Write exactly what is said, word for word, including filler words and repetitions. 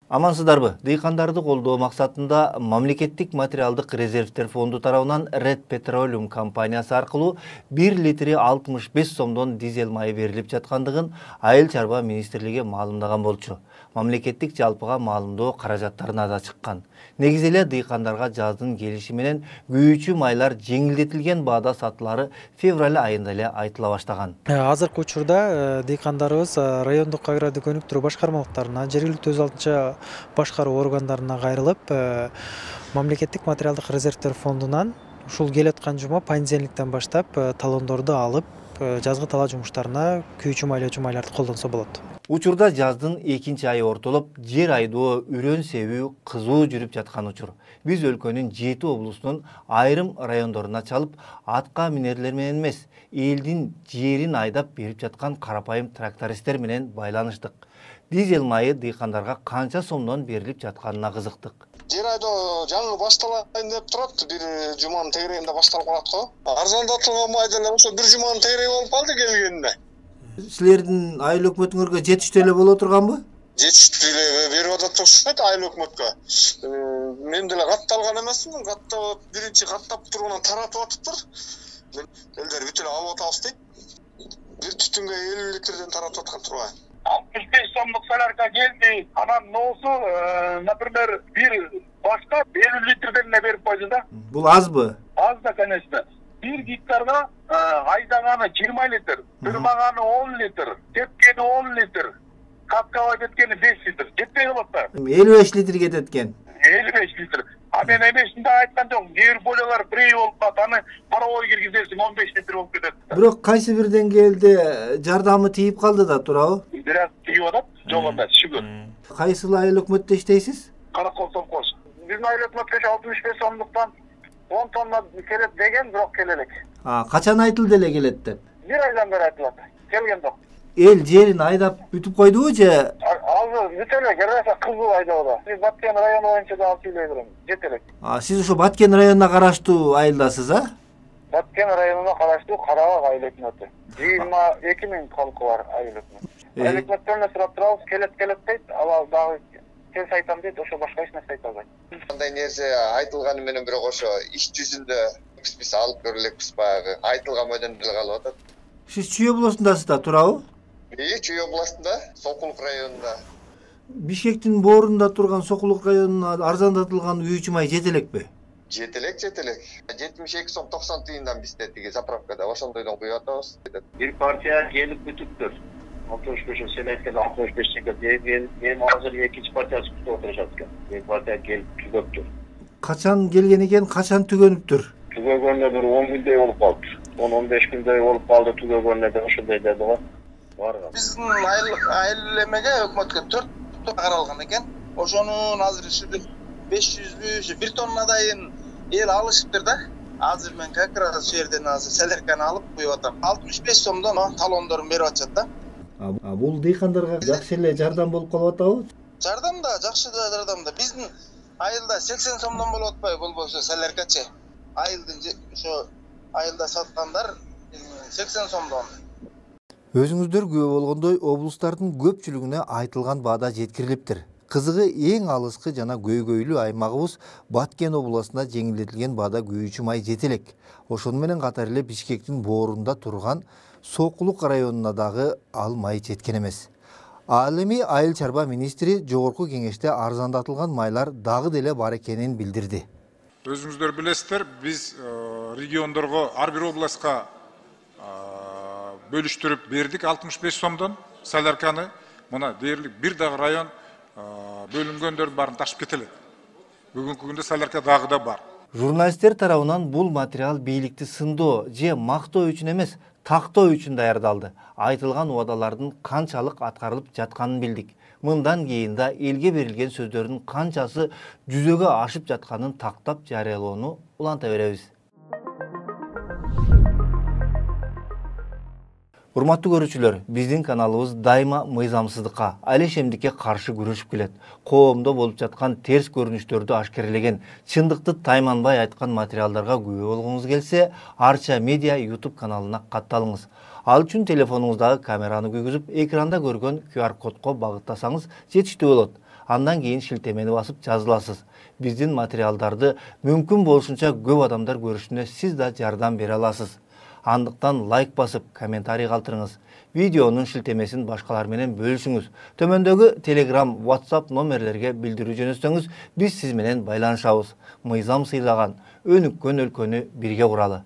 Амансыздарбы? Дыйкандарды колдоо максатында мамлекеттик материалдык резервтер фонду тарабынан Red Petroleum компаниясы аркылуу бир литри алтымыш беш сомдон дизель майы берилип жаткандыгын Айыл чарба министрлиги маалымдаган болчу. Мамлекеттик жалпыга маалымдоо каражаттарына да чыккан. Негизи эле дыйкандарга жаздын келиши менен күйүүчү майлар жеңилдетилген баада сатылары февраль айында эле айтыла баштаган. Азыркы учурда дыйкандарыбыз райондук агрардык өнүктүрүү башкармалыктарына, жергиликтүү өз алдынча башкаруу органдарына кайрылып, мамлекеттик материалдык резервтер фондунан ушул келаткан жума понедельниктен баштап талондорду алып, жазгы талаа жумуштарына күйүүчү майлоочу майларды колдонсо болот. Учурда жаздын экинчи айы ортолуп, жер айдоо, үрөн себүү кызуу жүрүп жаткан учур. Биз өлкөнүн жети облусунун айрым райондоруна чалып, атка минерлер менен эмес, элдин жерин айдап берип жаткан карапайым трактористтер менен байланыштык. Дизель майы дыйкандарга канча сомдон берилип жатканына кызыктык. Жер айдоо жаңы башталайын деп турат, бир жуманын тегерегинде башталып калат го. Арзандатылган май деле ошо бир жуманын тегереги болуп калды келгенине. Силердин айыл өкмөтүңөргө жетиштүү эле боло турганбы? Жетиштүү эле берип атат окшойт айыл өкмөткө. Мен деле катталган эмесмин, каттап биринчи каттап турганан таратып атыптыр. Элдер бүт эле алып атабыз дейт. Бир түтүнгө элүү литрден таратып аткан тургай. алтымыш беш сомдук солярка келди. Анан ноосу, например, бир башка элүү литрден эле берип койду да. Бул азбы? Аз да, конечно. Бир гектарга айдаганы жыйырма литр, тырмаганы он литр, тепкени он литр, каткабай кеткени беш литр. Жетпей калат да. элүү беш литр кетет экен. элүү беш литр. А мен эмесинде айткан жокмун. Кээ бир бололор бирөө болуп калат, аны паровой киргизесиң он беш литр болуп кетет. Бирок кайсы бир деңгээлде жардамы тийип калды да, туурабы? Бир аз тийип атат, жок эмес, шүгүр. Кайсыл айыл өкмөттө иштейсиз? Каракол совхоз. Биздин айыл өкмөткө алтымыш беш сомдуктан он тонна келет деген, бирок келелек. А, качан айтылды эле келет деп? Бир айдан бери айтылат. Келген жок. Эл жерин айдап бүтүп койдубу же? Азыр бүт эле келбесе кызыл айдоодо. Биз Баткен району боюнча да алып сүйлөй берем. Жет элек. А, сиз ошо Баткен районуна караштуу айылдасыз, а? Баткен районуна караштуу Карабак айыл өкмөтү. жыйырма эки миң калкы бар айыл өкмөтү. Айыл өкмөттөрүнө сурап турабыз, келет келет дейт, ал дагы тез айтам дейт, ошо башка эч нерсе айта албайт. Кандай нерсе айтылганы менен бирок ошо иш жүзүндө биз алып көрөлекпиз, баягы айтылган бойдон деле калып атат. Сиз Чүй облусундасыз да, туурабы? Ии, Чүй областында, Сокулук районунда. Бишкектин боорунда турган Сокулук районуна арзандатылган күйүүчү май жете элекпи? Жете элек, жете элек. жетимиш эки сом токсон тыйындан бизде тиги заправкада ошондойдон куюп атабыз. Бир партия келип бүтүптүр. алтымыш беш сен айткан алтымыш беш теңге. Эми азыр экинчи партиясы күтүп отурушат экен. Бир партия келип түгөптүр. Качан келген экен, качан түгөнүптүр? Түгөгөнүнө бир он күндөй болуп калды. он он беш күндөй болуп калды түгөгөнүнө да ошондой деди го. Барган. Биздин айыл айыл эмеге өкмөткө төрт тонна каралган экен. Ошонун азыр ушул беш жүзбү, бир тоннадайын эл алышыптыр да. Азыр мен как раз ушул жерден азыр солярканы алып куюп атам. алтымыш беш сомдон талондорун берип атышат да. А бул дыйкандарга жакшы эле жардам болуп калып атабы? Жардам да, жакшы да жардам да. Биздин айылда сексен сомдон болуп атпайбы болбосо соляркачы. Айылдын ошо айылда саткандар сексен сомдон. Өзүңүздөр күбө болгондой, облустардын көпчүлүгүнө айтылган баада жеткирилиптир. Кызыгы эң алыскы жана көйгөйлүү аймагыбыз Баткен областында жеңилдетилген баада күйүүчү май жете элек. Ошону менен катар эле Бишкектин боорунда турган Сокулук районуна дагы ал май жеткен эмес. Ал эми Айыл чарба министри жогорку кеңеште арзандатылган майлар дагы деле бар экенин билдирди. Өзүңүздөр билесиздер, биз региондорго ар бир областка бөлүштүрүп бердик алтымыш беш сомдон солярканы. Мына дээрлик бир дагы район бөлүнгөндөрдүн баарын ташып кетелет. Бүгүнкү күндө солярка дагы да бар. Журналисттер тарабынан бул материал бийликти сындоо же мактоо үчүн эмес, тактоо үчүн даярдалды. Айтылган убадалардын канчалык аткарылып жатканын билдик. Мындан кийин да элге берилген сөздөрдүн канчасы жүзөгө ашып жатканын тактап жарыялоону уланта беребиз. Урматтуу көрүүчүлөр, биздин каналыбыз дайыма мыйзамсыздыкка, алешемдикке каршы күрөшүп келет. Коомдо болуп жаткан терс көрүнүштөрдү ашкерлеген, чындыкты тайманбай айткан материалдарга күбө болгуңуз келсе, Арча Медиа YouTube каналына катталыңыз. Ал үчүн телефонуңуздагы камераны күйгүзүп, экранда көргөн ку ар кодко багыттасаңыз жетиштүү болот. андан кийин шилтемени басып жазыласыз. Биздин материалдарды мүмкүн болушунча көп адамдар көрүшүнө сиз да жардам бере аласыз. Андыктан лайк басып, комментарий калтырыңыз. Видеонун шилтемесин башкалар менен бөлүшүңүз. Төмөндөгү Telegram, WhatsApp номерлерге билдирүү жөнөтсөңүз, биз сиз менен байланышабыз. Мыйзам сыйлаган өнүккөн өлкөнү бирге куралы.